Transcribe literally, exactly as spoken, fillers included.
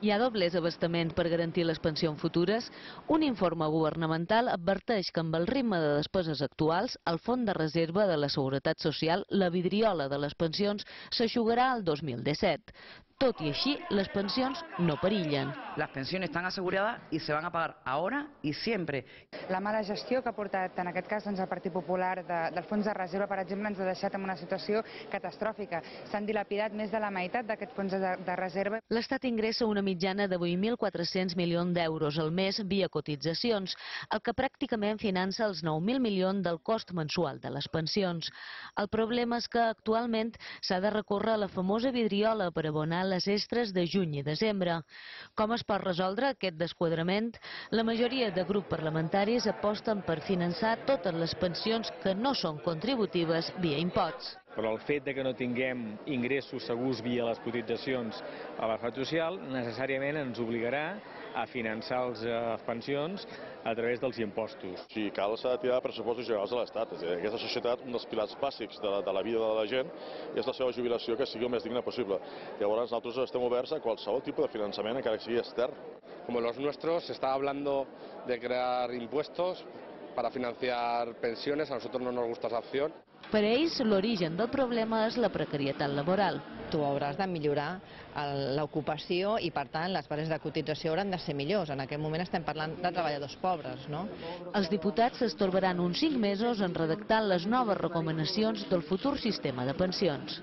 Hi ha doblers abastament per garantir les pensions futures? Un informe governamental adverteix que amb el ritme de despeses actuals, el Fons de Reserva de la Seguretat Social, la vidriola de les pensions, s'aixugarà el dos mil disset. Tot i així, les pensions no perillen. Las pensiones están aseguradas y se van a pagar ahora y siempre. La mala gestió que ha portat, en aquest cas, doncs, el Partit Popular de, del Fons de Reserva, per exemple, ens ha deixat en una situació catastròfica. S'han dilapidat més de la meitat d'aquest fons de, de reserva. L'Estat ingressa una mitjana de vuit mil quatre-cents milions d'euros al mes via cotitzacions, el que pràcticament finança els nou mil milions del cost mensual de les pensions. El problema és que actualment s'ha de recórrer a la famosa vidriola per abonar les extres de juny i desembre. Com es pot resoldre aquest desquadrament? La majoria de grups parlamentaris aposten per finançar totes les pensions que no són contributives via imposts. Però el fet de que no tinguem ingressos segurs via les cotitzacions a la Seguretat Social necessàriament ens obligarà a finançar les pensions a través dels impostos. Si cal, s'ha de tirar de pressupostos generals de l'Estat. És a dir, aquesta societat, un dels pilars bàsics de la, de la vida de la gent és la seva jubilació, que sigui el més digna possible. Llavors, nosaltres estem oberts a qualsevol tipus de finançament, encara que sigui extern. Como los nuestros, se está hablando de crear impuestos para financiar pensiones. A nosotros no nos gusta esa opción. Per a ells, l'origen del problema és la precarietat laboral. Tu hauràs de millorar l'ocupació i, per tant, les bases de cotització hauran de ser millors. En aquest moment estem parlant de treballadors pobres, no? Els diputats s'estorbaran uns cinc mesos en redactar les noves recomanacions del futur sistema de pensions.